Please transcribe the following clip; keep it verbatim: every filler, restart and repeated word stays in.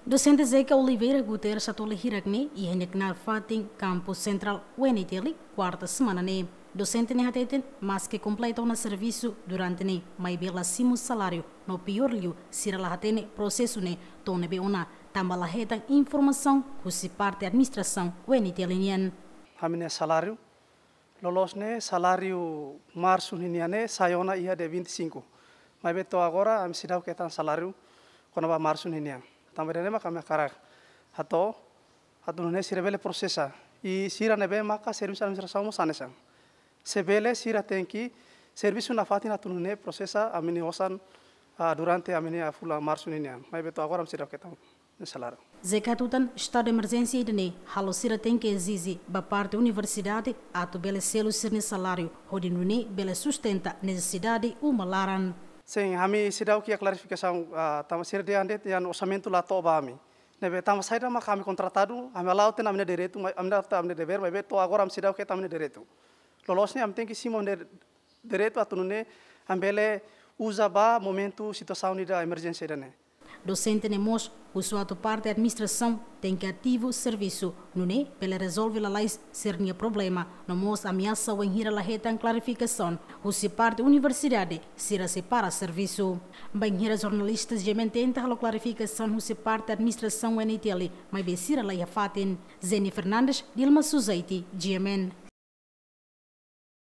Dosente Zeca Oliveira Guterres hato'o hirak ne'e iha nia knaar fatin Kampus Sentrál U N I T L, kuarta semana ne'e. Dosente ne'e hateten, maske kompleta ona servisu durante ne'e, maibé la simu saláriu, no piór liu, sira la hatene prosesu ne'e to'o ne'ebé ona, tanba la hetan informasaun husi parte administrasaun U N I T L nian. Ami-nia saláriu, loloos ne'e saláriu marsu ninian ne'e sai ona iha dia vinte e cinco. Maibé to'o agora ami seidauk hetan saláriu kona-ba marsu ninian. Tanba ida-ne'e mak ami hakarak hato'o atu nune'e sira bele prosesa. I sira ne'ebé maka servisu administrasaun mós hanesan. Se bele sira tenke servisu nafatin atu nune'e prosesa ami-nia osan, ah, durante ami-nia fulan marsu ninian. Maibé to'o agora ami seidauk hetan nia saláriu. Zeca hatutan, estadu de emerjénsia ida-ne'e halo sira tenke ezije ba parte universidade atu bele selu sira-nia saláriu, hodi nune'e bele sustenta nesesidade uma laran. Sin, ami seidauk iha klarifikasaun, ah, tanba sira dehan de'it nia orsamentu la to'o ba ami. Ne'ebé tanba saida mak ami kontratadu, ami hala'o tiha ona ami-nia direitu, mai-, ami hala'o tiha ona ami-nia devér, maibé to'o agora ami seidauk hetan ami-nia direitu. Loloos ne'e ami tenke simu ami-nia direitu atu nune'e ami bele uza ba momentu situasaun ida emerjénsia ida-ne'e. Dosente ne'e mós husu atu parte administrasaun tenke ativu servisu, nune'e bele rezolve lalais sira-nia problema, no mós ameasa wainhira la hetan klarifikasaun husi parte universidade, sira sei para servisu. Bainhira jornalista GMN tenta halo klarifikasaun husi parte administrasaun U N I T L, maibé sira la iha fatin. Jenny Fernandes, Dilma Suzaiti, GMN.